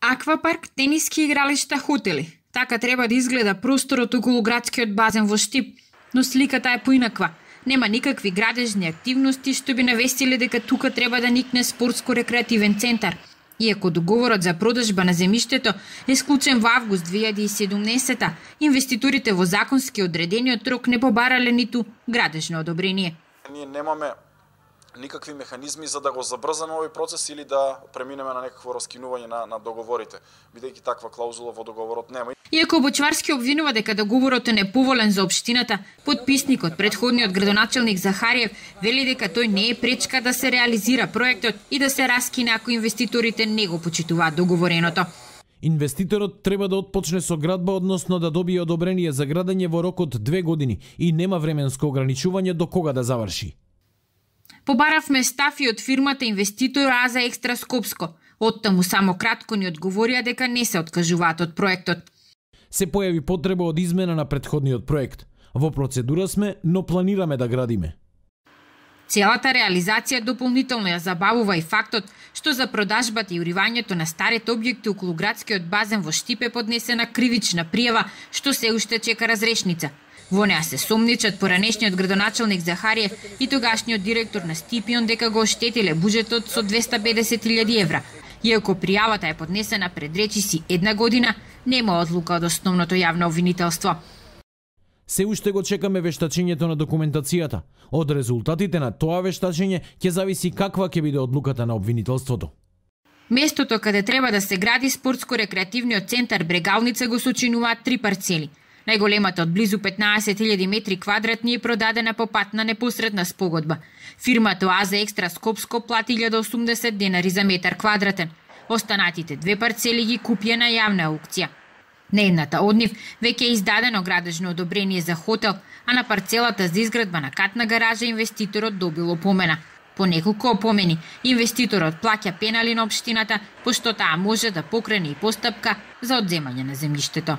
Аквапарк, тениски игралишта, хотели. Така треба да изгледа просторот околу градскиот базен во Штип, но сликата е поинаква. Нема никакви градежни активности што би навестиле дека тука треба да никне спортско-рекреативен центар. Иако договорот за продажба на земјиштето е склучен во август 2017, инвеститорите во законски одредениот рок не побарале ниту градежно одобрение. Ние немаме никакви механизми за да го забрзаме овој процес или да преминеме на некакво раскинување на договорите, бидејќи таква клаузула во договорот нема. Иако Бочварски обвинува дека договорот е неповолен за општината, подписникот, претходниот градоначелник Захариев, вели дека тој не е пречка да се реализира проектот и да се раскине ако инвеститорите не го почитуваат договореното. Инвеститорот треба да отпочне со градба, односно да добие одобрение за градење во рок од 2 години и нема временско ограничување до кога да заврши. Побаравме став и од фирмата инвеститор АЗА Екстра Скопско. Оттаму само кратко ни одговорија дека не се откажуваат од проектот. Се појави потреба од измена на претходниот проект. Во процедура сме, но планираме да градиме. Целата реализација дополнително ја забавува и фактот што за продажбата и уривањето на старите објекти околу градскиот базен во Штип е поднесена кривична пријава што се уште чека разрешница. Во неа се сомничат поранешниот градоначелник Захариев и тогашниот директор на Стипион дека го оштетиле буџетот со 250.000 евра. Иако пријавата е поднесена пред речиси 1 година, нема одлука од основното јавно обвинителство. Се уште го чекаме вештачењето на документацијата. Од резултатите на тоа вештачење ќе зависи каква ќе биде одлуката на обвинителството. Местото каде треба да се гради спортско-рекреативниот центар Брегалница го сочинуваат 3 парцели. Најголемата од близу 15.000 метри квадратни е продадена по пат на непосредна спогодба. Фирмата АЗА Екстра Скопско плати 1080 денари за метар квадратен. Останатите 2 парцели ги купија на јавна аукција. На едната од нив веќе е издадено градежно одобрение за хотел, а на парцелата за изградба на катна гаража инвеститорот добил опомена. По неколку опомени, инвеститорот плаќа пенали на општината, пошто таа може да покрене и постапка за одземање на земјиштето.